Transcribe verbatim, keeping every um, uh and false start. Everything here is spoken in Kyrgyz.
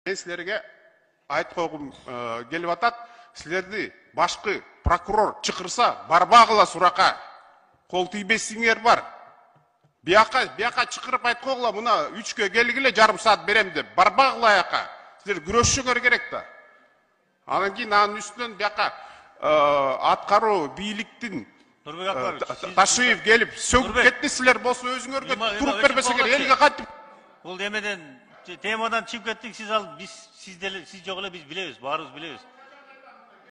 Мен силерге айтып койгум келип атат. Силерди башкы прокурор чакырса, барбагыла сурака. Кол тийбесиңер бар. Бияка, бияка чакырып айтып койгула, мына үчкө келгиле, жарым саат берем деп. Барбагыла аяка. Силер күрөшүңөр керек да. Анан кийин анын үстүнөн бияка аткаруу бийликтин Ташиев келип сөгүп кетти, силер болсо өзүңөргө туруп бербесеңер элге кантип. Бул эмеден темадан чыгып кеттик, сиз ал биз сиз деле сиз жок эле биз билебиз, баарыбыз билебиз.